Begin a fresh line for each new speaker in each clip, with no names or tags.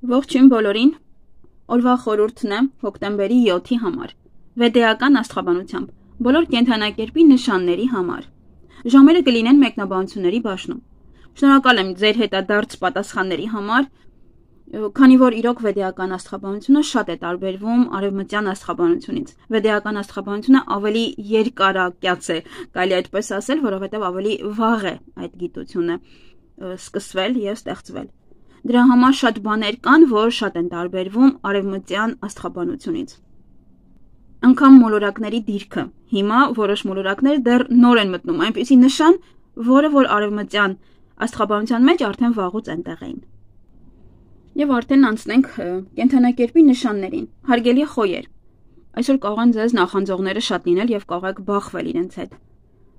Ողջույն բոլորին, օրվա խորհուրդն է հոկտեմբերի 7-ի համար, վեդեական աստղաբանությամբ, բոլոր կենդանակերպի նշանների համար, ժամերը կլինեն մեկնաբանությունների բաժնում, շնորհակալ եմ ձեր հետադարձ պատասխանների համար, քանի որ իրոք վեդեական աստղաբանությունը շատ է տարբերվում արևմտյան աստղաբանությունից, վեդեական աստղաբանությունը ավելի երկարակյաց է, կարելի այդպես ասել, որովհետև ավելի վաղ է այդ գիտությունը սկսվել և ստեղծվել։ Դրա համար շատ բաներ կան, որ շատ են տարբերվում արևմտյան աստղաբանությունից։ Անգամ մոլորակների դիրքը։ Հիմա որոշ մոլորակներ դեռ նոր են մտնում, այնպիսի նշան, որը որ արևմտյան աստղաբանության մեջ արդեն վաղուց այնտեղ էին։ Եվ արդեն անցնենք կենդանակերպի նշաններին։ Հարգելի խոյեր, այսօր կարող են ձեզ նախանձողները շատ լինել և կարող եք բախվել իրենց հետ։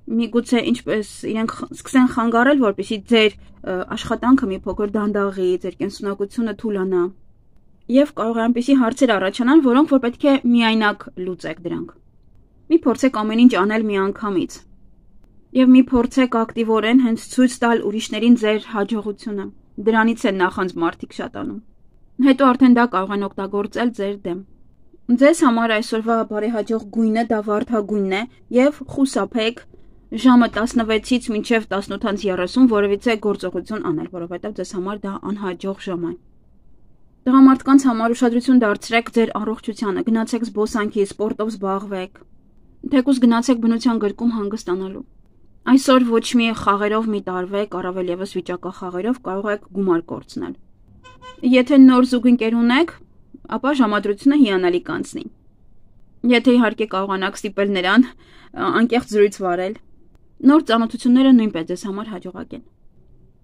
Միգուցե ինչպես իրենք սկսեն խանգարել, որպեսզի ձեր աշխատանքը մի փոքր դանդաղի, ձեր կենսունակությունը թուլանա։ Եվ կարող է այնպիսի հարցեր առաջանան, որոնք որ պետք է միայնակ լուծեք դրանք։ Մի փորձեք ամեն ինչ անել միանգամից։ Եվ մի փորձեք ակտիվորեն հենց ցույց տալ ուրիշներին ձեր հաջողությունը։ Դրանից են նախանձ մարդիկ շատանում։ Հետո արդեն դա կարող են օգտագործել ձեր դեմ։ Ձեզ համար այսօրվա բարեհաջող գույնը դա վարդագույնն է և խուսափեք ժամը 16-ից մինչև 18:30 որևիցե գործողություն անել, որովհետև ձեզ համար դա անհաջող ժամ է։ Տղամարդկանց համար ուշադրություն դարձրեք ձեր առողջությանը, գնացեք զբոսանքի, սպորտով զբաղվեք, թեկուզ գնացեք բնության գրկում հանգստանալու։ Այսօր ոչ մի խաղերով մի տարվեք, առավել ևս վիճակախաղերով կարող եք գումար կորցնել։ Եթե նոր զուգընկեր ունեք, ապա ժամադրությունը հիանալի կանցնի։ Եթե իհարկե կարողանաք ստիպել նրան անկեղծ զրույց վարել, նոր ծանոթությունները նույնպես ձեզ համար հաջողակ են։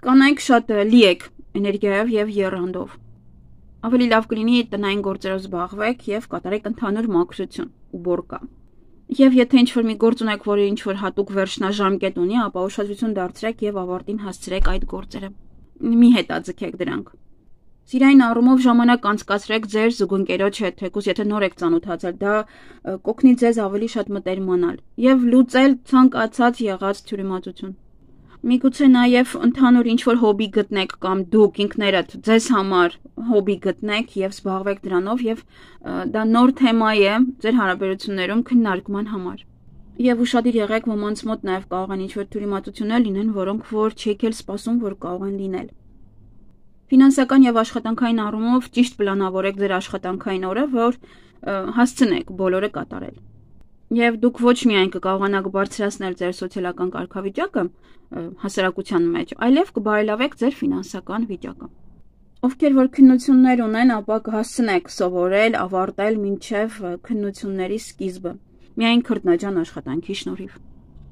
Կանայք շատ լի եք էներգիայով և եռանդով։ Ավելի լավ կլինի տնային գործերով զբաղվեք և կատարեք ընդհանուր մաքրություն ու բորկա։ Եվ եթե ինչ-որ մի գործ ունեք, որը ինչ-որ հատուկ վերջնաժամկետ ունի, ապա ուշադրություն դարձրեք և ավարտին հասցրեք այդ գործերը։ Մի հետաձգեք դրանք։ Սիրային առումով ժամանակ անցկացրեք ձեր զուգընկերոջ հետ, թեկուզ եթե նոր եք ծանոթացել, դա կօգնի ձեզ ավելի շատ մտերմանալ և լուծել ցանկացած եղած թյուրիմացություն։ Միգուցե նաև ընդհանուր ինչ-որ հոբի գտնեք կամ դուք ինքներդ ձեզ համար հոբի գտնեք և զբաղվեք դրանով և դա նոր թեմա է ձեր հարաբերություններում քննարկման համար։ Եվ ուշադիր եղեք, ոմանց մոտ նաև կարող են ինչ-որ թյուրիմացություններ լինեն, որոնք որ չեք էլ սպասում, որ կարող են լինել։ Ֆինանսական և աշխատանքային առումով ճիշտ պլանավորեք ձեր աշխատանքային օրը, որ հասցնեք բոլորը կատարել։ Եվ դուք ոչ միայն կկարողանաք բարձրացնել ձեր սոցիալական կարգավիճակը հասարակության մեջ, այլև կբարելավեք ձեր ֆինանսական վիճակը։ Ովքեր որ քննություններ ունեն, ապա կհասցնեք սովորել, ավարտել մինչև քննությունների սկիզբը, միայն քրտնաջան աշխատանքի շնորհիվ։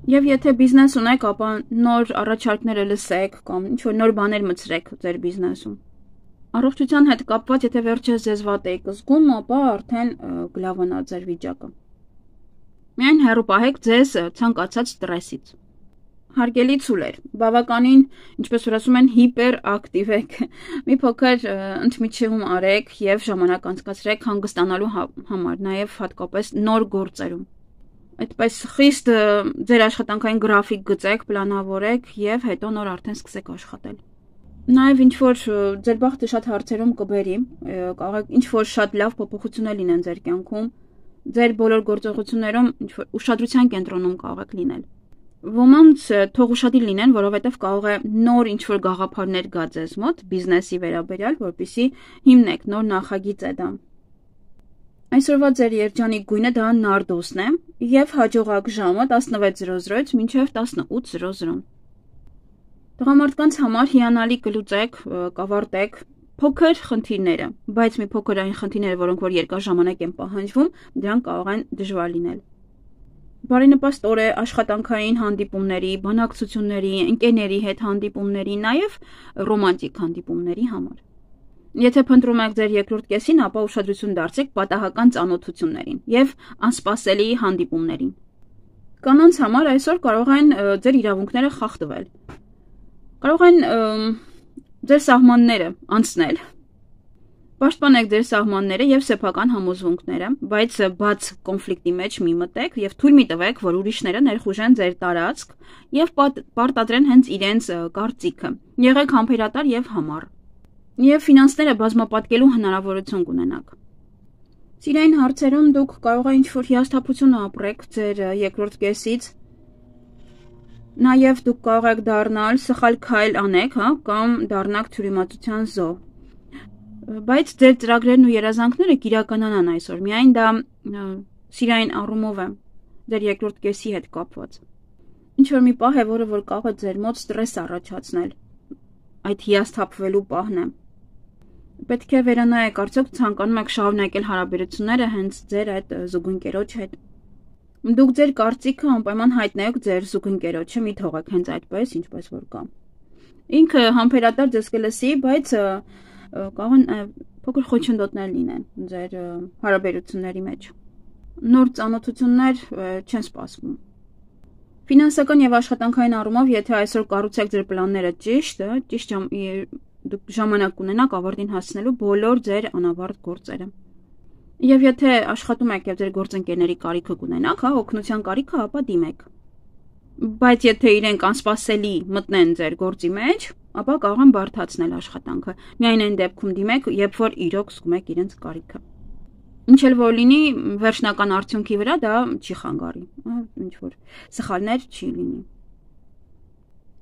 Եվ եթե բիզնես ունեք, ապա նոր առաջարկները լսեք կամ ինչ-որ նոր բաներ մտցրեք ձեր բիզնեսում։ Առողջության հետ կապված, եթե վերջերս ձեզ վատ եք զգում, ապա արդեն կլավանա ձեր վիճակը։ Միայն հեռու պահեք ձեզ ցանկացած ստրեսից։ Հարգելի ցուլեր, բավականին, ինչպես որ ասում են, հիպերակտիվ եք։ Մի փոքր ընդմիջում արեք և ժամանակ անցկացրեք հանգստանալու համար, նաև հատկապես նոր գործերում։ Այդպես խիստ ձեր աշխատանքային գրաֆիկ գծեք, պլանավորեք և հետո նոր արդեն սկսեք աշխատել։ Նաև ինչ-որ ձեր բախտը շատ հարցերում կբերի, կարող եք ինչ-որ շատ լավ փոփոխություններ լինեն ձեր կյանքում, ձեր բոլոր գործողություններում ինչ-որ ուշադրության կենտրոնում կարող եք լինել։ Ոմանց թող ուշադիր լինեն, որովհետև կարող է նոր ինչ-որ գաղափարներ գա ձեզ մոտ բիզնեսի վերաբերյալ, որպեսզի հիմնեք, նոր նախագիծ է դա։ Այսօրվա ձեր երջանիկ գույնը դա նարդոսն է և հաջողակ ժամը 16:00-ից մինչև 18:00։ Տղամարդկանց համար հիանալի կլուծեք, կավարտեք փոքր խնդիրները, բայց մի փոքր այն խնդիրները, որոնք որ երկար ժամանակ են պահանջվում, դրանք կարող են դժվար լինել։ Բարենպաստ օր է աշխատանքային հանդիպումների, բանակցությունների, ընկերների հետ հանդիպումների, նաև ռոմանտիկ հանդիպումների համար։ Եթե փնտրում եք ձեր երկրորդ կեսին, ապա ուշադրություն դարձրեք պատահական ծանոթություններին և անսպասելի հանդիպումներին։ Կանանց համար այսօր կարող են ձեր իրավունքները խախտվել։ Կարող են ձեր սահմանները անցնել։ Պաշտպանեք ձեր սահմանները և սեփական համոզմունքները, բայց բաց կոնֆլիկտի մեջ մի մտեք և թույլ մի տվեք, որ ուրիշները ներխուժեն ձեր տարածք և պարտադրեն հենց իրենց կարծիքը։ Եղեք համբերատար և համառ։ Եվ ֆինանսները բազմապատկելու հնարավորություն կունենաք։ Սիրային հարցերում դուք կարող եք ինչ-որ հիասթափություն ապրեք ձեր երկրորդ կեսից, նաև դուք կարող եք դառնալ սխալ քայլ անեք, կամ դառնաք թյուրիմացության զոհ։ Բայց ձեր ծրագրերն ու երազանքները կիրականանան այսօր, միայն դա սիրային առումով է ձեր երկրորդ կեսի հետ կապված։ Ինչ-որ մի պահ է, որը որ կարող է ձեր մոտ ստրես առաջացնել, այդ հիասթափվելու պահն է։ Պետք է վերանայեք, արդյոք ցանկանում եք շարունակել հարաբերությունները հենց ձեր այդ զուգընկերոջ հետ։ Դուք ձեր կարծիքը անպայման հայտնեք ձեր զուգընկերոջը, մի թողեք հենց այդպես, ինչպես որ կա։ Ինքը համբերատար ձեզ կլսի, բայց կարող են փոքր խոչընդոտներ լինեն ձեր հարաբերությունների մեջ։ Նոր ծանոթություններ չեն սպասվում։ Ֆինանսական եւ աշխատանքային առումով, եթե այսօր կառուցեք ձեր պլանները ճիշտ դուք ժամանակ կունենաք ավարտին հասցնելու բոլոր ձեր անավարտ գործերը։ Եվ եթե աշխատում եք եւ ձեր գործընկերների կարիքը կունենաք, օգնության կարիքը, ապա դիմեք։ Բայց եթե իրենք անսպասելի մտնեն ձեր գործի մեջ, ապա կարող են բարդացնել աշխատանքը։ Միայն այն դեպքում դիմեք, երբ որ իրոք զգում եք իրենց կարիքը։ Ինչ էլ որ լինի, վերջնական արդյունքի վրա դա չի խանգարի, ինչ որ սխալներ չի լինի։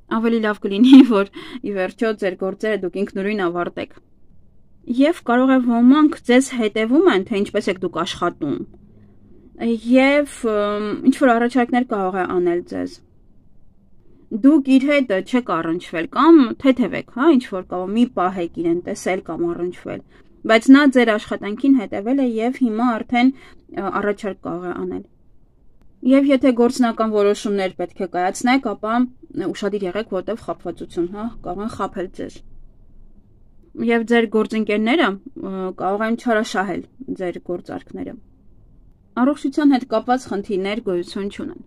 Ավելի լավ կլինի, որ ի վերջո ձեր գործերը դուք ինքնուրույն ավարտեք։ Եվ կարող է ոմանք ձեզ հետևում են, թե ինչպես եք դուք աշխատում։ Եվ ինչ որ առաջարկներ կարող է անել ձեզ։ Դուք իր հետ չեք առնչվել կամ թեթևեք, ինչ որ կարող մի պահ եք իրեն տեսել կամ առնչվել, բայց նա ձեր աշխատանքին հետևել է եւ հիմա արդեն առաջարկ կարող է անել։ Եվ եթե գործնական որոշումներ պետք է կայացնեք, ապա ուշադիր եղեք, որտեղ խաբվածություն, կարող են խաբել ձեզ։ Եվ ձեր գործընկերները կարող են չարաշահել ձեր գործարքները։ Առողջության հետ կապված խնդիրներ գոյություն չունեն։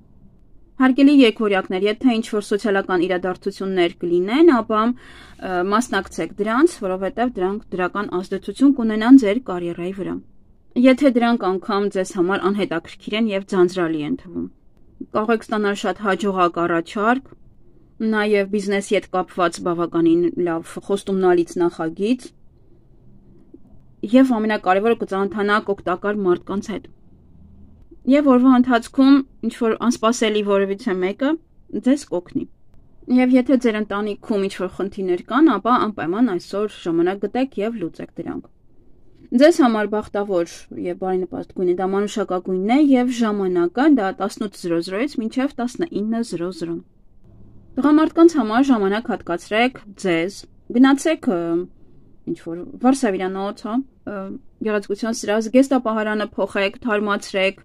Հարգելի եկորյակներ, եթե ինչ-որ սոցիալական իրադարձություններ կլինեն, ապա մասնակցեք դրանց, որովհետև դրանք դրական ազդեցություն կունենան ձեր կարիերայի վրա։ Եթե դրանք անգամ ձեզ համար անհետաքրքիր են եւ ձանձրալի են թվում։ Կարող եք ստանալ շատ հաջողակ առաջարկ, նաև բիզնեսի հետ կապված բավականին լավ խոստումնալից նախագիծ եւ ամենակարևորը կծանոթանաք օգտակար մարդկանց հետ։ Եվ օրվա ընթացքում ինչ որ անսպասելի որևիցե մեկը ձեզ կօգնի։ Եվ եթե ձեր ընտանիքում ինչ որ խնդիրներ կան, ապա անպայման այսօր ժամանակ գտեք եւ լուծեք դրանք։ Ձեզ համար բախտավոր եւ բարենպաստ գույնը դա մանուշակագույնն է եւ ժամանակը դա 18:00-ից մինչեւ 19:00։ Տղամարդկանց համար ժամանակ հատկացրեք ձեզ, գնացեք ինչ-որ վարսավիրանոց, գեղեցկության սրահ, զգեստապահարանը փոխեք, թարմացրեք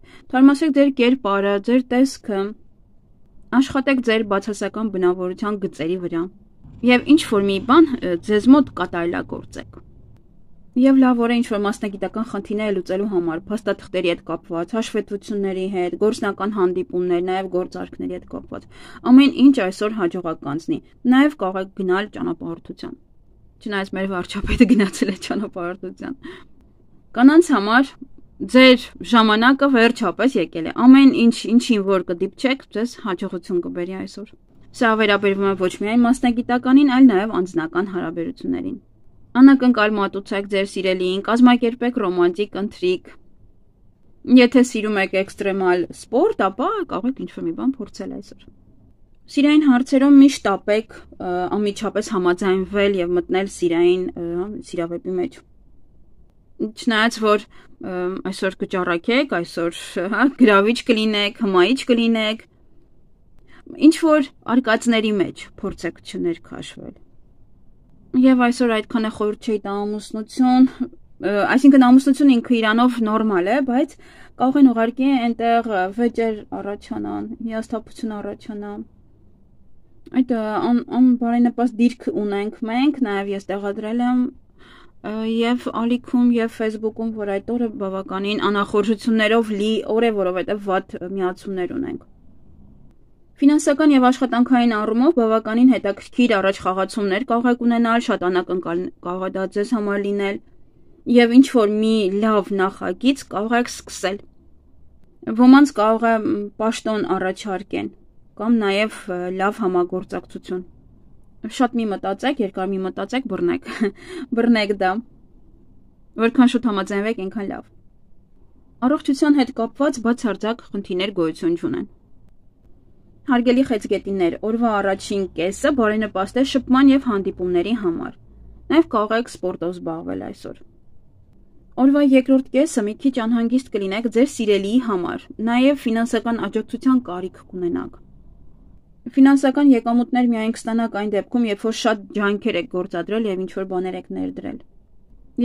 ձեր կերպարը, ձեր տեսքը, աշխատեք ձեր բացասական բնավորության գծերի վրա եւ ինչ-որ մի բան ձեզ մոտ կատարելագործեք։ Եվ լավ օր է ինչ-որ մասնագիտական խնդիրներ լուծելու համար, փաստաթղթերի հետ կապված, հաշվետվությունների հետ, գործնական հանդիպումներ, նաև գործարքների հետ կապված։ Ամեն ինչ այսօր հաջողակ կանցնի։ Նաև կարող եք գնալ ճանապարհորդության։ Չնայած մեր վարչապետը գնացել է ճանապարհորդության։ Կանանց համար ձեր ժամանակը վերջապես եկել է։ Ամեն ինչին որ կդիպչեք, ձեզ հաջողություն կբերի այսօր։ Սա վերաբերվում է ոչ միայն մասնագիտականին, այլ նաև անձնական հարաբերություններին։ Անակնկալ մատուցեք ձեր սիրելիին, կազմակերպեք ռոմանտիկ ընթրիք։ Եթե սիրում եք էքստրեմալ սպորտ, ապա կարող եք ինչ-որ մի բան փորձել այսօր։ Սիրային հարցերում միշտ տապեք անմիջապես համաձայնվել եւ մտնել սիրավեպի մեջ։ Չնայած որ այսօր կճառակեք, այսօր գրավիչ կլինեք, հմայիչ կլինեք, ինչ որ արկածների մեջ փորձեք չներքաշվել։ Եվ այսօր այդքան է խորհուրդ չէի տա ամուսնություն, այսինքն ամուսնություն ինքը իրանով նորմալ է, բայց կարող են ուղղակի այնտեղ վեճեր առաջանան, հիասթափություն առաջանա։ Այդ անբարենպաստ դիրք ունենք մենք, նաև ես տեղադրել եմ եւ ալիքում եւ Facebook-ում, որ այդ օրը բավականին անախորժություններով լի օր է, որովհետեւ վատ միացումներ ունենք։ Ֆինանսական եւ աշխատանքային առումով բավականին հետաքրքիր առաջխաղացումներ կարող եք ունենալ, շատ անակնկալ կարող է դա ձեզ համար լինել եւ ինչ որ մի լավ նախագիծ կարող եք սկսել։ Ոմանց կարող է պաշտոն առաջարկեն կամ նաեւ լավ համագործակցություն։ Շատ մի մտածեք, երկար մի մտածեք, բռնեք։ Բռնեք դա։ Որքան շուտ համաձայնվեք, այնքան լավ։ Առողջության հետ կապված բացարձակ խնդիրներ գոյություն չունեն։ Հարգելի խեցգետիններ, օրվա առաջին կեսը բարենպաստ է շփման եւ հանդիպումների համար։ Նաեւ կարող եք սպորտով զբաղվել այսօր։ Օրվա երկրորդ կեսը մի քիչ անհանգիստ կլինեք ձեր սիրելիի համար, նաեւ ֆինանսական աջակցության կարիք կունենաք։ Ֆինանսական եկամուտներ միայն կստանաք այն դեպքում, երբ որ շատ ջանքեր եք գործադրել եւ ինչ-որ բաներ եք ներդրել։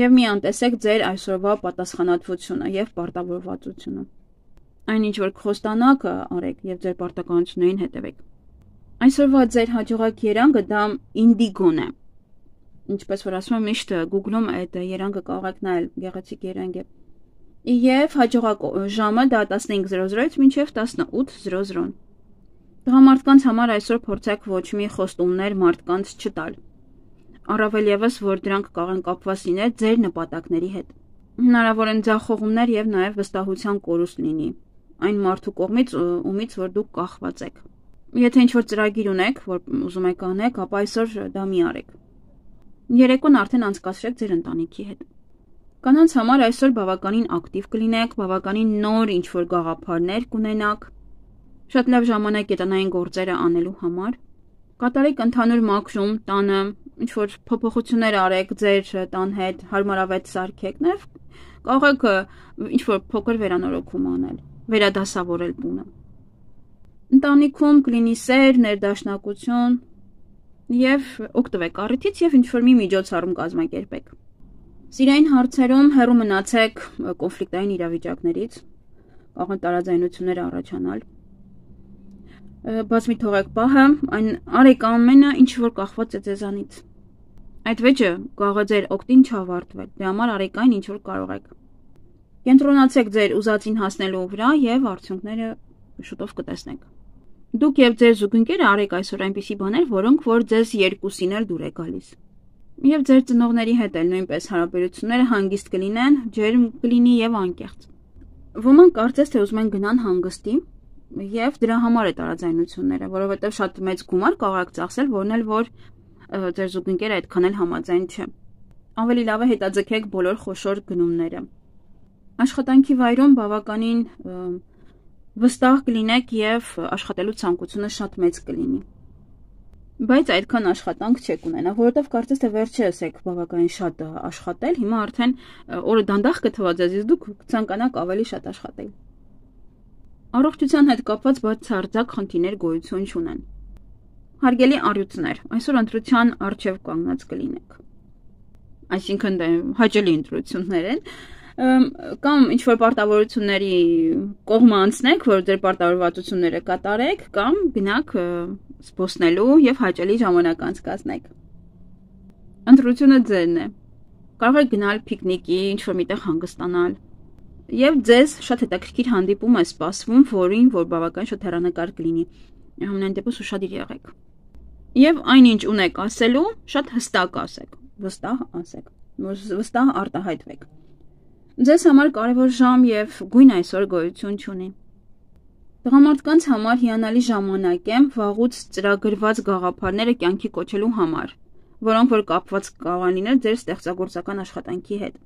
Եվ մի անտեսեք ձեր այսօրվա պատասխանատվությունը եւ պարտավորվածությունը։ Այն ինչ որ կխոստանաք արեք եւ ձեր պարտականություններին հետևեք։ Այսօրվա ձեր հաջողակ երանգը դա ինդիգոն է։ Ինչպես որ ասում եմ, միշտ Google-ում այդ երանգը կարող եք նայել, գեղեցիկ երանգ է։ Եվ հաջողակ ժամը դա 15:00-ից մինչև 18:00։ Տղամարդկանց համար այսօր փորձեք ոչ մի խոստումներ մարդկանց չտալ։ Առավել ևս, որ դրանք կարող են կապված լինել ձեր նպատակների հետ։ Հնարավոր են ձախողումներ եւ նաեւ վստահության կորուստ լինի այն մարդու կողմից, ումից որ դուք կախված եք։ Եթե ինչ-որ ծրագիր ունեք, որ ուզում եք անեք, ապա այսօր դա մի արեք։ Երեկոն արդեն անցկացրեք ձեր ընտանիքի հետ։ Կանանց համար այսօր բավականին ակտիվ կլինեք, բավականին նոր ինչ-որ գաղափարներ կունենաք։ Շատ լավ ժամանակ է տնային գործերը անելու համար։ Կատարեք ընդհանուր մաքրում տանը, ինչ-որ փոփոխություններ արեք ձեր տան հետ, հարմարավետ սարքեք, նաև կարող եք ինչ-որ փոքր վերանորոգում անել, վերադասավորել տունը։ Ընտանիքում կլինի սեր, ներդաշնակություն եւ օգտվեք առիթից եւ ինչ-որ մի միջոցառում կազմակերպեք։ Սիրային հարցերում հեռու մնացեք կոնֆլիկտային իրավիճակներից, կարող են տարաձայնություններ առաջանալ։ Բաց մի թողեք պահը, այն արեք ամենը, ինչ որ կախված է ձեզանից։ Այդ վեճը կարող է ձեր օգտին չավարտվել, դրա համար արեք այն, ինչ որ կարող եք։ Կենտրոնացեք ձեր ուզածին հասնելու վրա եւ արդյունքները շուտով կտեսնեք։ Դուք եւ ձեր զուգընկերը արեք այսօր այնպիսի բաներ, որոնք որ ձեզ երկուսին էլ դուր է գալիս։ Եվ ձեր ծնողների հետ էլ նույնպես հարաբերությունները հանգիստ կլինեն, ջերմ կլինի եւ անկեղծ։ Ոմանք կարծես թե ուզում են գնան հանգստի եւ դրա համար է տարաձայնությունները, որովհետեւ շատ մեծ գումար կարող եք ծախսել, որն էլ որ ձեր զուգընկերը այդքան էլ համաձայն չէ։ Ավելի լավ է հետաձգեք բոլոր խոշոր գնումները։ Աշխատանքի վայրում բավականին վստահ կլինեք եւ աշխատելու ցանկությունը շատ մեծ կլինի։ Բայց այդքան աշխատանք չեք ունենա, որովհետեւ կարծես թե վերջերս եք բավականին շատ աշխատել, հիմա արդեն օրը դանդաղ կթվա ձեզ, իսկ դուք կցանկանաք ավելի շատ աշխատել։ Առողջության հետ կապված բացարձակ խնդիրներ գոյություն չունեն։ Հարգելի առյուծներ, այսօր ընտրության առջև կանգնած կլինեք։ Այսինքն հաճելի ընտրություններ են, կամ ինչ-որ պարտավորությունների կողմը անցնեք, որ ձեր պարտավորվածությունները կատարեք, կամ գնաք զբոսնելու եւ հաճելի ժամանակ անցկացնեք։ Ընտրությունը ձերն է։ Կարող եք գնալ պիկնիկի, ինչ-որ միտեղ հանգստանալ։ Եվ ձեզ շատ հետաքրքիր հանդիպում է սպասվում, որին որ բավական շատ հեռանկար կլինի։ Համենայն դեպս ուշադիր եղեք։ Եվ այնինչ ունեք ասելու, շատ հստակ ասեք, վստահ ասեք, վստահ արտահայտվեք։ Ձեզ համար կարևոր ժամ եւ գույն այսօր գոյություն չունի։ Տղամարդկանց համար հիանալի ժամանակ է վաղուց ծրագրված գաղափարները կյանքի կոչելու համար, որոնք որ կապված կարող լինել ձեր ստեղծագործական աշխատանքի հետ։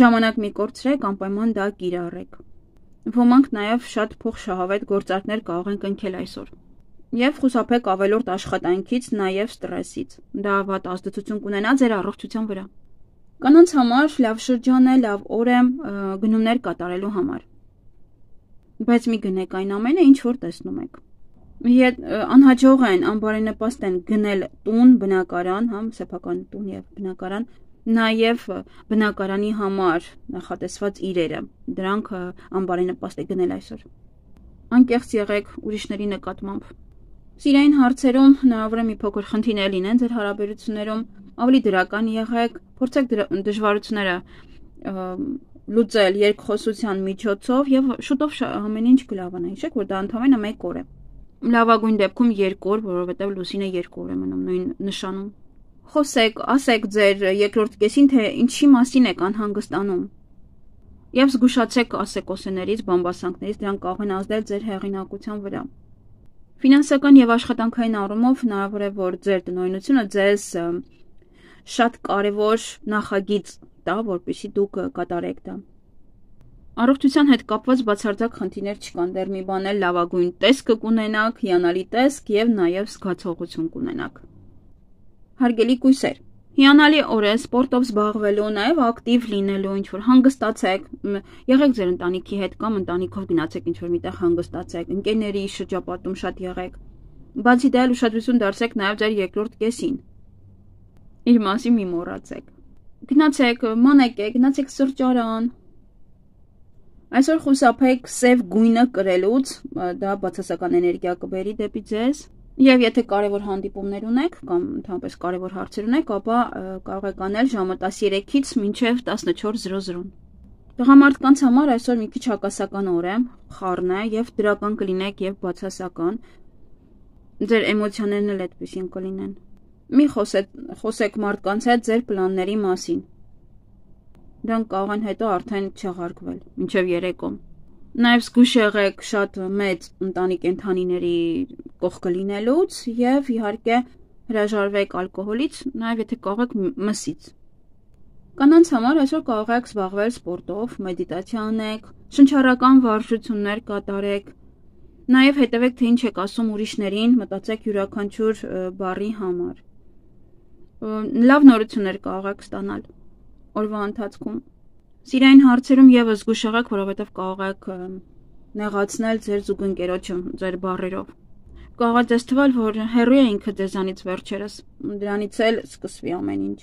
Ժամանակ մի կորցրեք, անպայման դա կիրառեք։ Ոմանք նաև շատ փոխշահավետ գործարքներ կարող են կնքել այսօր։ Եվ խուսափեք ավելորդ աշխատանքից, նաև ստրեսից։ Դա վատ ազդեցություն կունենա ձեր առողջության վրա։ Կանանց համար լավ շրջան է, լավ օր է գնումներ կատարելու համար։ Բայց մի գնեք այն ամենը, ինչ որ տեսնում եք։ Անհաջող են, անբարենպաստ են գնել տուն, բնակարան, սեփական տուն եւ բնակարան, նաև բնակարանի համար նախատեսված իրերը, դրանք անբարենպաստ է գնել այսօր։ Անկեղծ եղեք ուրիշների նկատմամբ։ Սիրային հարցերում հնարավոր է մի փոքր խնդիրներ լինեն ձեր հարաբերություններում, ավելի դրական եղեք, փորձեք դժվարությունները լուծել երկխոսության միջոցով եւ շուտով ամեն ինչ կլավանա։ Հիշեք, որ դա ընդհանրապես մեկ օր է։ Լավագույն դեպքում 2 օր, որովհետեւ լուսինը 2 օր է մնում նույն նշանում։ Խոսեք, ասեք ձեր երկրորդ կեսին, թե ինչի մասին եք անհանգստանում։ Եվ զգուշացեք ասեկոսեներից, բամբասանքներից, դրանք կարող են ազդել ձեր հեղինակության վրա։ Ֆինանսական եւ աշխատանքային առումով հնարավոր է, որ ձեր տնօրինությունը ձեզ շատ կարևոր նախագիծ տա, որպեսզի դուք կատարեք դա։ Առողջության հետ կապված բացարձակ խնդիրներ չկան, դեռ մի բան էլ լավագույն տեսքը կունենաք, հիանալի տեսք եւ նաեւ զգացողություն կունենաք։ Հարգելի կույսեր, հիանալի օր է սպորտով զբաղվելու, նաեւ ակտիվ լինելու, ինչ որ հանգստացեք, եղեք ձեր ընտանիքի հետ կամ ընտանիքով գնացեք ինչ որ միտեղ հանգստացեք, ընկերների շրջապատում շատ եղեք։ Բացի դա ուշադրություն դարձեք նաեւ ձեր երկրորդ կեսին։ Իր մասին մի մոռացեք։ Գնացեք, մանեկեք, գնացեք սրճարան։ Այսօր խուսափեք սև գույնը կրելուց, դա բացասական էներգիա կբերի դեպի ձեզ, եւ եթե կարևոր հանդիպումներ ունեք կամ ընդհանրապես կարևոր հարցեր ունեք, ապա կարող եք անել ժամը 13-ից մինչև 14:00։ Տղամարդկանց համար այսօր մի քիչ հակասական օր է, խառն է եւ դրական կլինեք եւ բացասական։ Ձեր էմոցիաներն էլ այդպեսին կլինեն։ Մի խոսեք մարդկանց հետ ձեր պլանների մասին։ Դրանք կարող են հետո արդեն չեղարկվել, մինչև երեկո։ Նաև զգույշ եղեք շատ մեծ ընտանի կենդանիների կողքը լինելուց եւ իհարկե հրաժարվեք ալկոհոլից, նաև եթե կարող եք մսից։ Կանանց համար այսօր կարող եք զբաղվել սպորտով, մեդիտացիա անեք, շնչառական վարժություններ կատարեք, նաև հետևեք թե ինչ եք ասում ուրիշներին, մտածեք յուրաքանչյուր բառի համար։ Լավ նորություններ կարող եք ստանալ օրվա ընթացքում։ Սիրային հարցերում եւս զգույշ եղեք, որովհետեւ կարող եք նեղացնել ձեր զուգընկերոջը ձեր բառերով։ Կարող է ձեզ թվալ, որ հեռու է ինքը ձեզանից վերջերս, դրանից էլ սկսվի ամեն ինչ։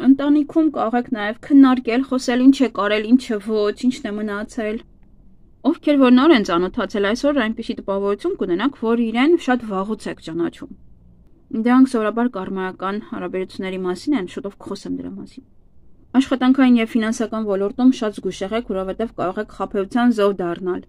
Ընտանիքում կարող եք նաեւ քննարկել, խոսել ինչ եք արել, ինչը ոչ, ինչն է մնացել։ Ովքեր որ նոր են ծանոթացել այսօր, այնպիսի տպավորություն կունենաք, որ իրեն շատ վաղուց եք ճանաչում։ Դրանք սովորաբար կարմայական հարաբերությունների մասին են, շուտով կխոսեմ դրա մասին։ Աշխատանքային եւ ֆինանսական ոլորտում շատ զգույշ եղեք, որովհետեւ կարող եք խաբեության զոհ դառնալ։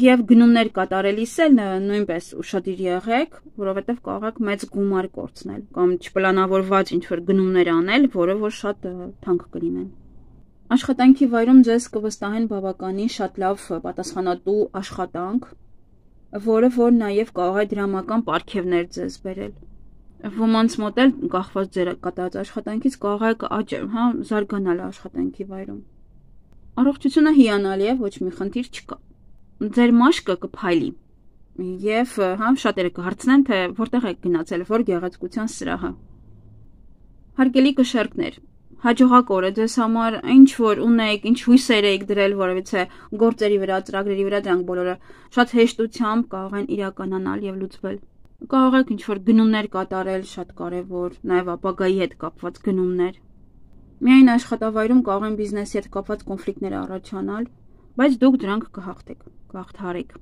Եվ գնումներ կատարելիս էլ նույնպես ուշադիր եղեք, որովհետեւ կարող եք մեծ գումար կորցնել կամ չպլանավորված ինչ-որ գնումներ անել, որը որ շատ թանկ կլինեն։ Աշխատանքի վայրում ձեզ կվստահեն բավականին շատ լավ պատասխանատու աշխատանք, որը որ նաեւ կարող է դրամական պարգևներ ձեզ բերել։ Ոմանց մոտ էլ կախված ձեր կատարած աշխատանքից կարող եք զարգանալ աշխատանքի վայրում։ Առողջությունը հիանալի է, ոչ մի խնդիր չկա։ Ձեր մաշկը կփայլի եւ շատերը կհարցնեն, թե որտեղ եք գնացել, որ գեղեցկության սրահը։ Հարգելի կշեռքներ, հաջողակ օր է ձեզ համար, ինչ որ ունեք, ինչ հույսեր եք դրել որևիցե գործերի վրա, ծրագրերի վրա, դրանք բոլորը շատ հեշտությամբ կարող են իրականանալ եւ լուծվել։ Կարող եք ինչ-որ գնումներ կատարել, շատ կարևոր, նաև ապագայի հետ կապված գնումներ։ Միայն աշխատավայրում կարող են բիզնեսի հետ կապված կոնֆլիկտներ առաջանալ, բայց դուք դրանք կհաղթեք, կհաղթարեք։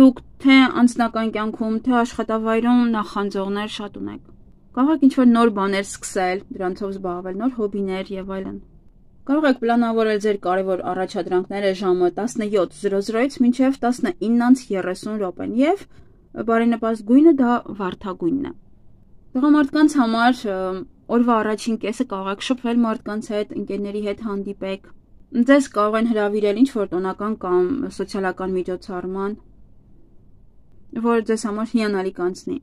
Դուք թե անձնական կյանքում, թե աշխատավայրում նախանձողներ շատ ունեք։ Կարող եք ինչ-որ նոր բաներ սկսել, դրանցով զբաղվել, նոր հոբիներ եւ այլն։ Կարող եք պլանավորել ձեր կարևոր առաջադրանքները ժամը 17:00-ից մինչև 19:30 եւ բարենպաստ գույնը դա վարդագույնն է։ Տղամարդկանց համար օրվա առաջին կեսը կարող եք շփվել մարդկանց հետ, ընկերների հետ հանդիպեք։ Ձեզ կարող են հրավիրել ինչ-որ տոնական կամ սոցիալական միջոցառման, որը ձեզ համար հիանալի կանցնի։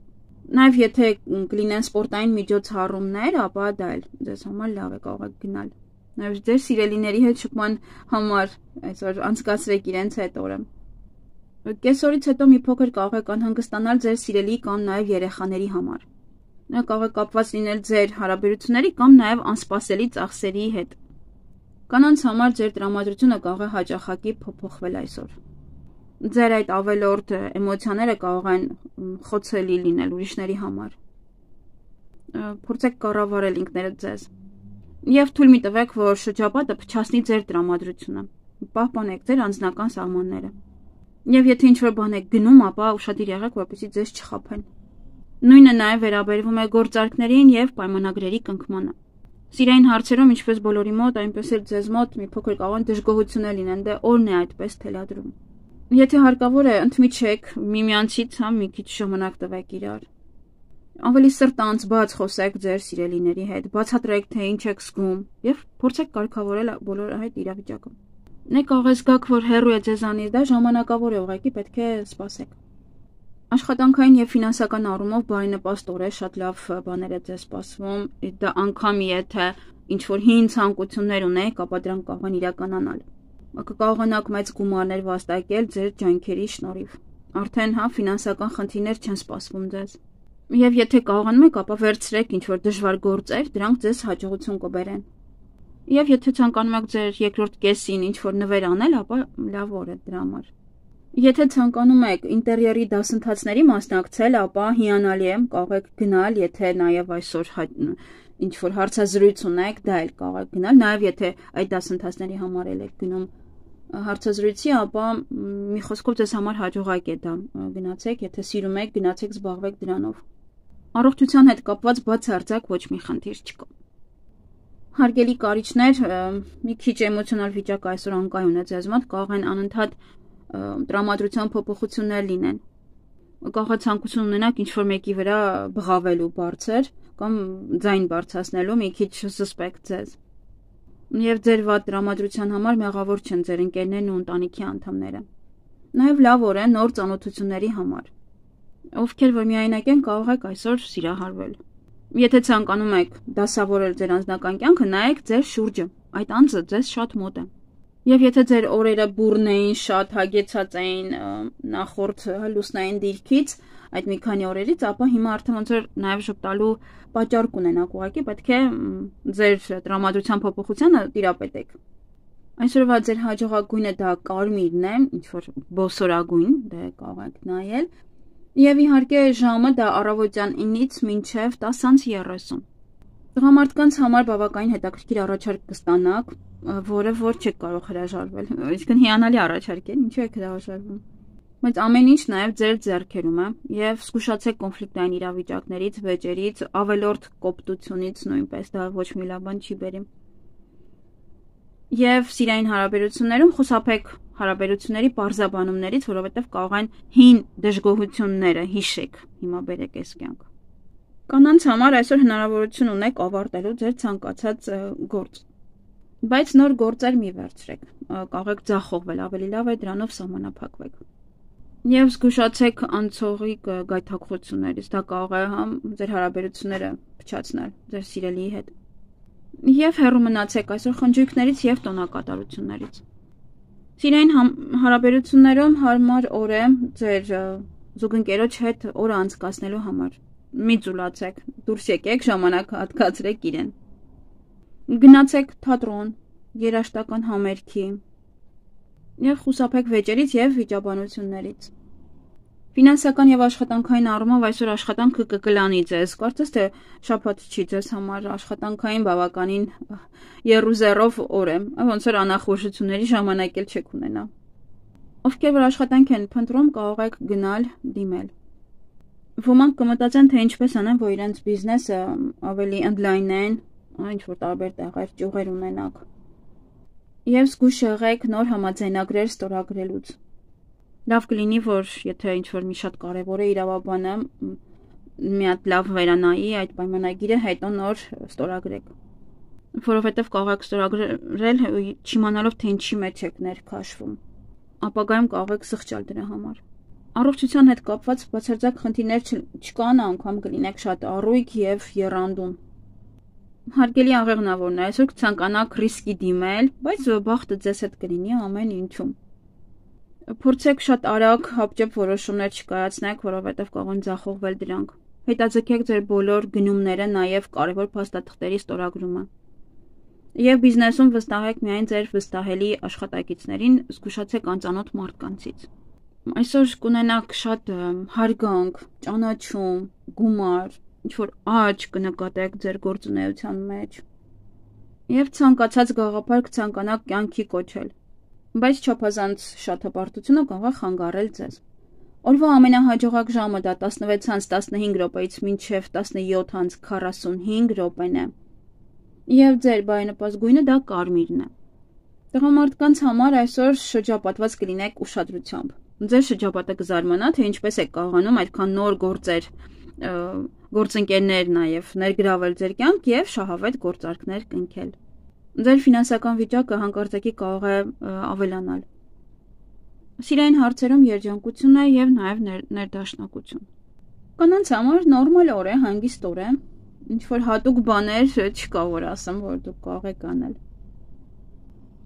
Նաև եթե կլինեն սպորտային միջոցառումներ, ապա դա էլ ձեզ համար լավ է, կարող եք գնալ։ Նաև ձեր սիրելիների հետ շփման համար այսօր անցկացրեք իրենց հետ օրը։ Կեսօրից հետո մի փոքր կարող եք անհանգստանալ ձեր սիրելի կամ նաև երեխաների համար։ Նա կարող է կապված լինել ձեր հարաբերությունների կամ նաև անսպասելի ծախսերի հետ։ Կանանց համար ձեր տրամադրությունը կարող է հաճախակի փոփոխվել այսօր։ Ձեր այդ ավելորդ էմոցիաները կարող են խոցելի լինել ուրիշների համար։ Փորձեք կառավարել ինքներդ ձեզ։ Եվ թույլ մի տվեք, որ շրջապատը փչացնի ձեր տրամադրությունը։ Պահպանեք ձեր անձնական սահմանները։ Եվ եթե ինչ-որ բան եք գնում, ապա ուշադիր եղեք, որպեսզի ձեզ չխաբեն։ Նույնը նաև վերաբերվում է գործարքներին եւ պայմանագրերի կնքմանը։ Սիրային հարցերում, ինչպես բոլորի մոտ, այնպես էլ ձեզ մոտ մի փոքր կարող են դժգոհություններ լինեն, դե օրն է այդպես թելադրում։ Եթե հարկավոր է, ընդմիջեք միմյանցից, մի քիչ ժամանակ տվեք իրար։ Ավելի սրտանց բաց խոսեք ձեր սիրելիների հետ, բացատրեք, թե ինչ եք զգում եւ փորձեք կարգավորել բոլոր այդ իրավիճակը։ Նե կարող է զգաք, որ հեռու է ձեզանից, դա ժամանակավոր է, ուղղակի պետք է սպասեք։ Աշխատանքային եւ ֆինանսական առումով բարենպաստ է, շատ լավ բաներ է ձեզ սպասվում, դա անգամ եթե ինչ-որ հին ցանկություններ ունեք, ապա դրանք կարող են իրականանալ։ Կկարողանաք մեծ գումարներ վաստակել ձեր ջանքերի շնորհիվ։ Արդեն ֆինանսական խնդիրներ չեն սպասվում ձեզ։ Եվ եթե կարողանում եք, ապա վերցրեք ինչ-որ դժվար գործեր, դրանք ձեզ հաջողություն կբերեն։ Եվ եթե ցանկանում եք ձեր երկրորդ կեսին ինչ-որ նվեր անել, ապա լավ օր է դրա համար։ Եթե ցանկանում եք ինտերիերի դասընթացների մասնակցել, ապա հիանալի է, կարող եք գնալ, եթե նաև այսօր ինչ-որ հարցազրույց ունեք, դա էլ կարող եք գնալ, նաև եթե այդ դասընթացների համար եք գնում հարցազրույցի, ապա մի խոսքով ձեզ համար հաջողակ է դա, գնացեք, եթե սիրում եք, գնացեք զբաղվեք դրանով։ Առողջության հետ կապված բացարձակ ոչ մի խնդիր չկա։ Հարգելի կարիճներ, մի քիչ էմոցիոնալ վիճակը այսօր անկայուն է ձեզ մոտ, կարող են անընդհատ տրամադրության փոփոխություններ լինեն։ Կարող է ցանկություն ունենաք ինչ-որ մեկի վրա բղավելու բարձր կամ ձայն բարձրացնելու, մի քիչ զսպեք ձեզ։ Եվ ձեր վատ տրամադրության համար մեղավոր չեն ձեր ընկերներն ու ընտանիքի անդամները։ Նաև լավ օր է նոր ծանոթությունների համար։ Ովքեր որ միայնակ են, կարող եք այսօր սիրահարվել։ Եթե ցանկանում եք դասավորել ձեր անձնական կյանքը, նայեք ձեր շուրջը, այդ անձը ձեզ շատ մոտ է։ Եվ եթե ձեր օրերը բուռն էին, շատ հագեցած էին նախորդ լուսնային դիրքից, այդ մի քանի օրերից, ապա հիմա արդեն ոնց որ նաև ժպտալու պատճառ կունենաք, ուղղակի պետք է ձեր տրամադրության փոփոխությանը տիրապետեք։ Այսօրվա ձեր հաջողագույնը դա կարմիրն է, ինչ որ բոսորագույն, դա կարող եք նայել։ Եվ իհարկե ժամը դա առավոտյան 9-ից մինչև 10:30։ Տղամարդկանց համար բավականին հետաքրքիր առաջարկ կստանաք, որը որ չեք կարող հրաժարվել։ Այսինքն հիանալի առաջարկ է, ինչու եք հրաժարվում։ Բայց ամեն ինչ նաև ձեր ձեռքերում է, եւ զգուշացեք կոնֆլիկտային իրավիճակներից, վեճերից, ավելորդ կոպտությունից նույնպես դա ոչ մի լավ բան չի բերի։ Եվ սիրային հարաբերություններում խուսափեք հարաբերությունների պարզաբանումներից, որովհետև կարող են հին դժգոհությունները հիշեք, հիմա բերեք այս կյանք։ Կանանց համար այսօր հնարավորություն ունեք ավարտելու ձեր ցանկացած գործ։ Բայց նոր գործեր մի վերցրեք, կարող եք ձախողվել, ավելի լավ է դրանով սահմանափակվեք։ Եվ զգուշացեք անցողի գայթակղություններից, դա կարող է ձեր հարաբերությունները փչացնել ձեր սիրելիի հետ։ Եվ հեռու մնացեք այսօր խնջույքներից եւ տոնակատարություններից։ Սիրային հարաբերություններում հարմար օր է ձեր զուգընկերոջ հետ օրը անցկացնելու համար։ Մի ծուլացեք, դուրս եկեք, ժամանակ հատկացրեք իրեն։ Գնացեք թատրոն, երաժշտական համերգի եւ խուսափեք վեճերից եւ վիճաբանություններից։ Ֆինանսական եւ աշխատանքային առումով այսօր աշխատանքը կկլանի ձեզ, կարծես թե շաբաթ չի ձեզ համար աշխատանքային բավականին երուզերով օր է, ոնց որ անախորժությունների ժամանակ էլ չեք ունենա։ Ովքեր որ աշխատանք են փնտրում, կարող եք գնալ դիմել։ Ոմանք կմտածեն, թե ինչպես անեն, որ իրենց բիզնեսը ավելի ընդլայնեն, ինչ որ տարբեր տեղեր ճյուղեր ունենաք։ Եվ զգուշ եղեք նոր համաձայնագրեր ստորագրելուց։ Լավ կլինի, որ եթե ինչ-որ մի շատ կարևոր է իրավաբանը մի հատ լավ վերանայի այդ պայմանագիրը, հետո նոր ստորագրեք։ Որովհետև կարող եք ստորագրել չիմանալով, թե ինչի մեջ եք ներքաշվում։ Ապագայում կարող եք սխճալ դրա համար։ Առողջության հետ կապված բացարձակ խնդիրներ չկան, անգամ կլինեք շատ առույգ եւ եռանդուն։ Հարգելի աղեղնավորն է, այսօր կցանկանաք ռիսկի դիմել, բայց բախտը ձեզ հետ կլինի ամեն ինչում։ Փորձեք շատ արագ հապճեպ որոշումներ չկայացնեք, որովհետև կարող են ձախողվել դրանք։ Հետաձգեք ձեր բոլոր գնումները, նաև կարևոր փաստաթղթերի ստորագրումը։ Եվ բիզնեսում վստահեք միայն ձեր վստահելի աշխատակիցներին, զգուշացեք անծանոթ մարդկանցից։ Այսօր կունենաք շատ հարգանք, ճանաչում, գումար, ինչ-որ աճ կնկատեք ձեր գործունեության մեջ։ Եվ ցանկացած գաղափար կցանկանաք կյանքի կոչել։ Բայց չափազանց շատ հպարտությունը կարող է խանգարել ձեզ։ Օրվա ամենահաջողակ ժամը դա 16:15 րոպեից մինչև 17:45 րոպեն է։ Եվ ձեր բարենպաստ գույնը դա կարմիրն է։ Տղամարդկանց համար այսօր շրջապատված կլինեք ուշադրությամբ։ Ձեր շրջապատը կզարմանա, թե ինչպես եք կարողանում այդքան նոր գործեր, գործընկերներ նաև ներգրավել ձեր կյանք եւ շահավետ գործարքներ կնքել։ Ձեր ֆինանսական վիճակը հանկարծակի կարող է ավելանալ։ Սիրային հարցերում երջանկություն է եւ նաեւ ներդաշնակություն։ Կանանց համար նորմալ օր է, հանգիստ օր է, ինչ որ հատուկ բաներ չկա, որ ասեմ, որ դուք կարող եք անել։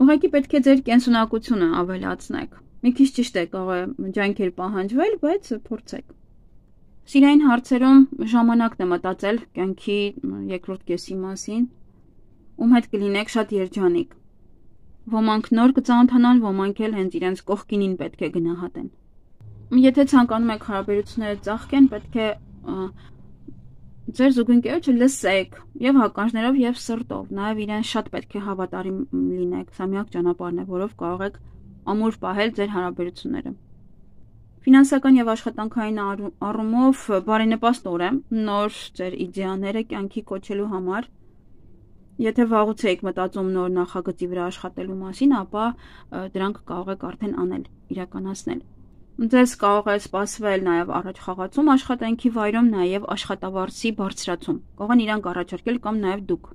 Ուղղակի պետք է ձեր կենսունակությունը ավելացնեք։ Մի քիչ ճիշտ է, կարող է ջանքեր պահանջվել, բայց փորձեք։ Սիրային հարցերում ժամանակն է մտածել կյանքի երկրորդ կեսի մասին, ում հետ կլինեք շատ երջանիկ։ Ոմանք նոր կծանոթանան, ոմանք էլ հենց իրենց կողքինին պետք է գնահատեն։ Եթե ցանկանում եք հարաբերությունները ծաղկեն, պետք է ձեր զուգընկերոջը լսեք եւ հականջներով եւ սրտով, նաեւ իրեն շատ պետք է հավատարիմ լինեք, սա միակ ճանապարհն է, որով կարող եք ամուր պահել ձեր հարաբերությունները։ Ֆինանսական եւ աշխատանքային առումով բարենպաստ օր է նոր ձեր իդեաները կյանքի կոչելու համար։ Եթե վաղուց եք մտածում նոր նախագծի վրա աշխատելու մասին, ապա դրանք կարող եք արդեն անել, իրականացնել։ Ձեզ կարող է սպասվել նաև առաջ խաղացում աշխատանքի վայրում, նաև աշխատավարձի բարձրացում։ Կարող են իրանք առաջարկել կամ նաև դուք։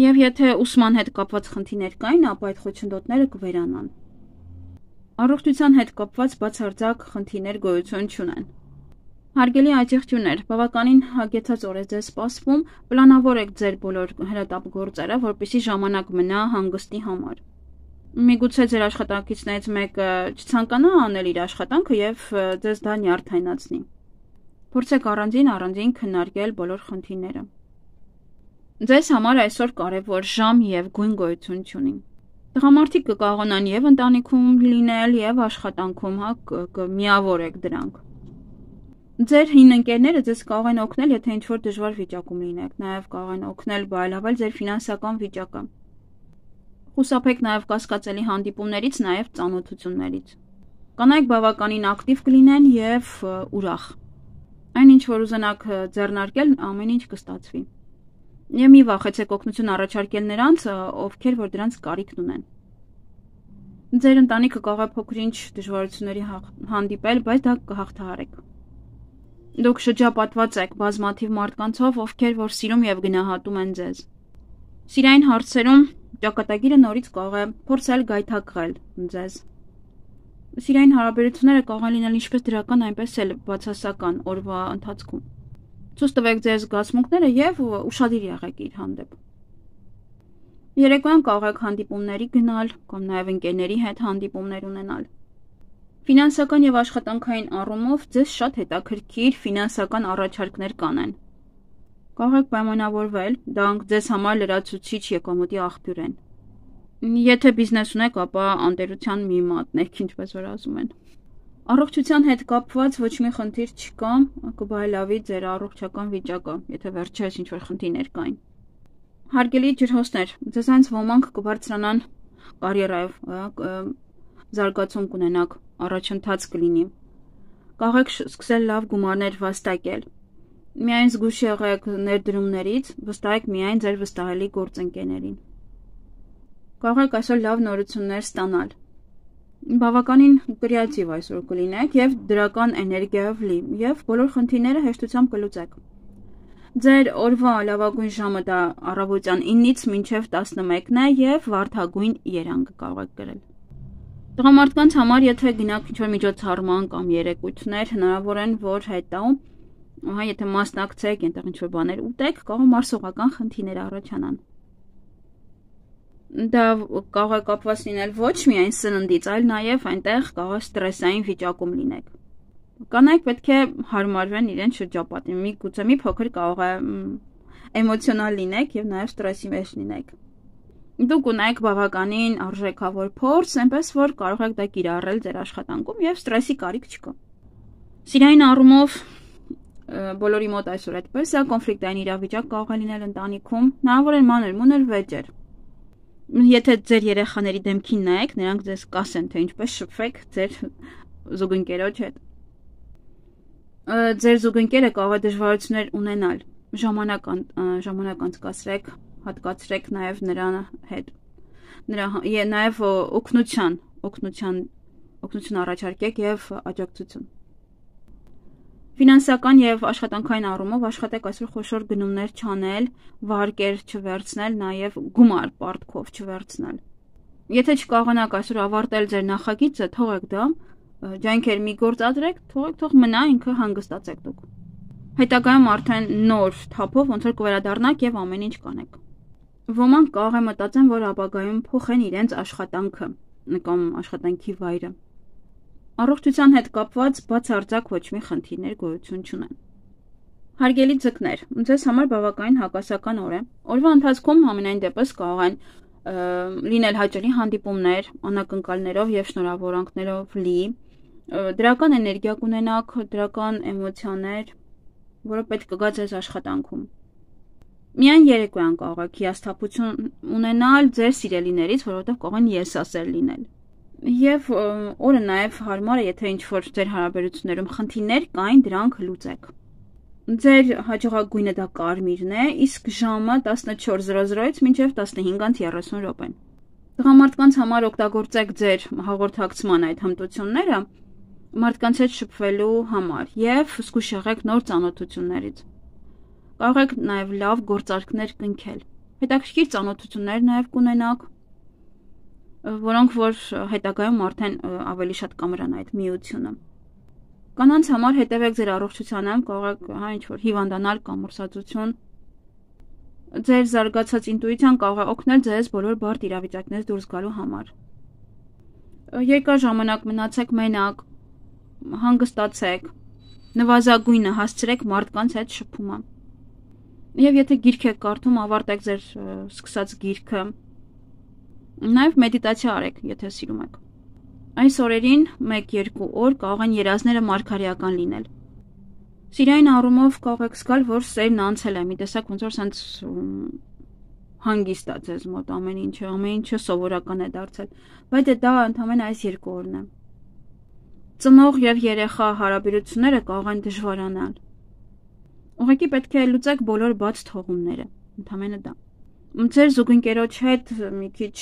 Եվ եթե ուսման հետ կապված խնդիրներ կային, ապա այդ խոչընդոտները կվերանան։ Առողջության հետ կապված բացարձակ խնդիրներ գոյություն չունեն։ Հարգելի աջակցություններ, բավականին հագեցած օր է ձեզ սպասվում, պլանավորեք ձեր բոլոր հրատապ գործերը, որպեսզի ժամանակ մնա հանգստի համար։ Միգուցե ձեր աշխատակիցներից մեկը չցանկանա անել իր աշխատանքը եւ ձեզ դա նյարդայնացնի։ Փորձեք առանձին քննարկել բոլոր խնդիրները։ Ձեզ համար այսօր կարևոր ժամ եւ գույն գոյություն չունի։ Տղամարդիկ կկարողանան եւ ընտանիքում լինել եւ աշխատանքում, կմիավորեք դրանք։ Ձեր հին ընկերները ձեզ կարող են օգնել, եթե ինչ-որ դժվար վիճակում լինեք, նաեւ կարող են օգնել բարելավել ձեր ֆինանսական վիճակը։ Խուսափեք նաև կասկածելի հանդիպումներից, նաև ծանոթություններից։ Կանայք բավականին ակտիվ կլինեն եւ ուրախ։ Այն ինչ որ ուզենաք ձեռնարկել, ամեն ինչ կստացվի։ Եվ մի վախեցեք օգնություն առաջարկել նրանց, ովքեր որ դրանց կարիքն ունեն։ Ձեր ընտանիքը կարող է փոքր-ինչ դժվարությունների հանդիպել, բայց դա կհաղթահարեք։ Դուք շրջապատված եք բազմաթիվ մարդկանցով, ովքեր որ սիրում եւ գնահատում են ձեզ։ Սիրային հարցերում ճակատագիրը նորից կարող է փորձել գայթակղել ձեզ։ Սիրային հարաբերությունները կարող են լինել ինչպես դրական, այնպես էլ բացասական օրվա ընթացքում։ Ցույց տվեք ձեր զգացմունքները եւ ուշադիր եղեք իր հանդեպ։ Երեկոյան կարող եք հանդիպումների գնալ կամ նաեւ ընկերների հետ հանդիպումներ ունենալ։ Ֆինանսական եւ աշխատանքային առումով ձեզ շատ հետաքրքիր ֆինանսական առաջարկներ կանեն։ Կարող եք պայմանավորվել, դրանք ձեզ համար լրացուցիչ եկամուտի աղբյուր են։ Եթե բիզնես ունեք, ապա անտերության մի մատնեք, ինչպես որ ասում են։ Առողջության հետ կապված ոչ մի խնդիր չկա, կբարելավի ձեր առողջական վիճակը, եթե վերջերս ինչ-որ խնդիրներ կային։ Հարգելի ջրհոսներ, ձեզանց ոմանք կբարձրանան կարիերայով, զարգացում կունենաք, առաջընթաց կլինի։ Կարող եք սկսել լավ գումարներ վաստակել։ Միայն զգույշ եղեք ներդրումներից, վստահեք միայն ձեր վստահելի գործընկերներին։ Կարող եք այսօր լավ նորություններ ստանալ։ Բավականին կրեատիվ այսօր կլինեք եւ դրական էներգիայով լի եւ բոլոր խնդիրները հեշտությամբ կլուծեք։ Ձեր օրվա լավագույն ժամը դա առավոտյան 9-ից մինչև 11-ն է եւ վարդագույն երանգ կարող եք գրել։ Տղամարդկանց համար, եթե գնաք ինչ-որ միջոցառման կամ երեկույթներ, հնարավոր են, որ հետո, եթե մասնակցեք, այնտեղ ինչ-որ բաներ ուտեք, կարող մարսողական խնդիրներ առաջանան։ Դա կարող է կապված լինել ոչ միայն սննդից, այլ նաև այնտեղ կարող է ստրեսային վիճակում լինեք։ Կանայք պետք է հարմարվեն իրենց շրջապատին, միգուցե մի փոքր կարող է էմոցիոնալ լինեք եւ նաեւ ստրեսի մեջ լինեք։ Դուք ունեք բավականին արժեքավոր փորձ, այնպես որ կարող եք դա կիրառել ձեր աշխատանքում եւ ստրեսի կարիք չկա։ Սիրային առումով բոլորի մոտ այսօր այդպես է, կոնֆլիկտային իրավիճակ կարող է լինել ընտանիքում, հնարավոր է մանր-մունր վեճեր։ Եթե ձեր երեխաների դեմքին նայեք, նրանք ձեզ կասեն, թե ինչպես շփվեք ձեր զուգընկերոջ հետ։ Ձեր զուգընկերը կարող է դժվարություններ ունենալ, ժամանակ անցկացրեք, հատկացրեք նաև նրան հետ։ Նաև օգնություն առաջարկեք եւ աջակցություն։ Ֆինանսական եւ աշխատանքային առումով աշխատեք այսօր խոշոր գնումներ չանել, վարկեր չվերցնել, նաեւ գումար պարտքով չվերցնել։ Եթե չկարողանաք այսօր ավարտել ձեր նախագիծը, թողեք դա, ջանքեր մի գործադրեք, թող մնա, ինքը հանգստացեք դուք։ Հետագայում արդեն նոր թափով ոնց որ կվերադառնաք եւ ամեն ինչ կանեք։ Ոմանք կարող է մտածեն, որ ապագայում փոխեն իրենց աշխատանքը, կամ աշխատանքի վայրը։ Առողջության հետ կապված բացարձակ ոչ մի խնդիրներ գոյություն չունեն։ Հարգելի ձկներ, ձեզ համար բավականին հակասական օր է։ Օրվա ընթացքում համենայն դեպս կարող են լինել հաճելի հանդիպումներ, անակնկալներով եւ շնորհավորանքներով լի, դրական էներգիա կունենաք, դրական էմոցիաներ, որը պետք կգա ձեզ աշխատանքում։ Միայն երեկոյան կարող եք հիասթափություն ունենալ ձեր սիրելիներից, որովհետև կարող են եսասեր լինել։ Եվ օրը նաև հարմար է, եթե ինչ-որ ձեր հարաբերություններում խնդիրներ կային, դրանք լուծեք։ Ձեր հաջողակ գույնը դա կարմիրն է, իսկ ժամը 14:00-ից մինչև 15:30 րոպեն։ Տղամարդկանց համար օգտագործեք ձեր հաղորդակցման այդ հմտությունները մարդկանց հետ շփվելու համար եւ զգույշ եղեք նոր ծանոթություններից։ Կարող եք նաև լավ գործարքներ կնքել։ Հետաքրքիր ծանոթություններ նաև կունենաք, որոնք որ հետագայում արդեն ավելի շատ կամրան այդ միությունը։ Կանանց համար հետևեք ձեր առողջությանը, կարող եք ինչ-որ հիվանդանալ կամ ուրսածություն։ Ձեր զարգացած ինտուիցիան կարող է օգնել ձեզ բոլոր բարդ իրավիճակներից դուրս գալու համար։ Երկար ժամանակ մնացեք մենակ, հանգստացեք, նվազագույնը հասցրեք մարդկանց հետ շփումը։ Եվ եթե գիրք եք կարդում, ավարտեք ձեր սկսած գիրքը։ Նաև մեդիտացիա արեք, եթե սիրում եք։ Այս օրերին 1-2 օր կարող են երազները մարգարեական լինել։ Սիրային առումով կարող եք զգալ, որ սերն անցել է, մի տեսակ ոնց որ սենց հանգիստ է ձեզ մոտ ամեն ինչը սովորական է դարձել, բայց դա ընդամենը այս 2 օրն է։ Ծնող եւ երեխա հարաբերությունները կարող են դժվարանալ։ Ուղղակի պետք է լուծեք բոլոր բաց թողումները, ընդամենը դա։ Ձեր զուգընկերոջ հետ մի քիչ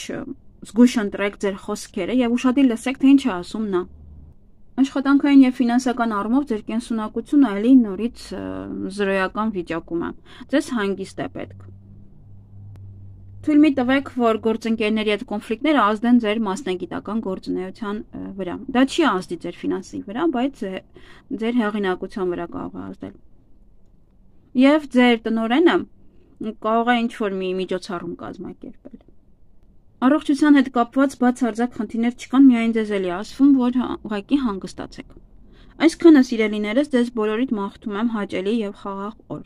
զգույշ ընտրեք ձեր խոսքերը եւ ուշադիր լսեք, թե ինչ է ասում նա։ Աշխատանքային եւ ֆինանսական առումով ձեր կենսունակությունը ելի նորից զրոյական վիճակում է։ Ձեզ հանգիստ է պետք։ Թույլ մի տվեք, որ գործընկերների հետ կոնֆլիկտները ազդեն ձեր մասնագիտական գործունեության վրա։ Դա չի ազդի ձեր ֆինանսի վրա, բայց ձեր հեղինակության վրա կարող է ազդել։ Եվ ձեր տնօրենը կարող է ինչ-որ մի միջոցառում կազմակերպել։ Առողջության հետ կապված բացարձակ խնդիրներ չկան, միայն ձեզ էլի ասվում, որ ուղղակի հանգստացեք։ Այսքանը սիրելիներս, ձեզ բոլորիդ մաղթում եմ հաճելի եւ խաղաղ օր։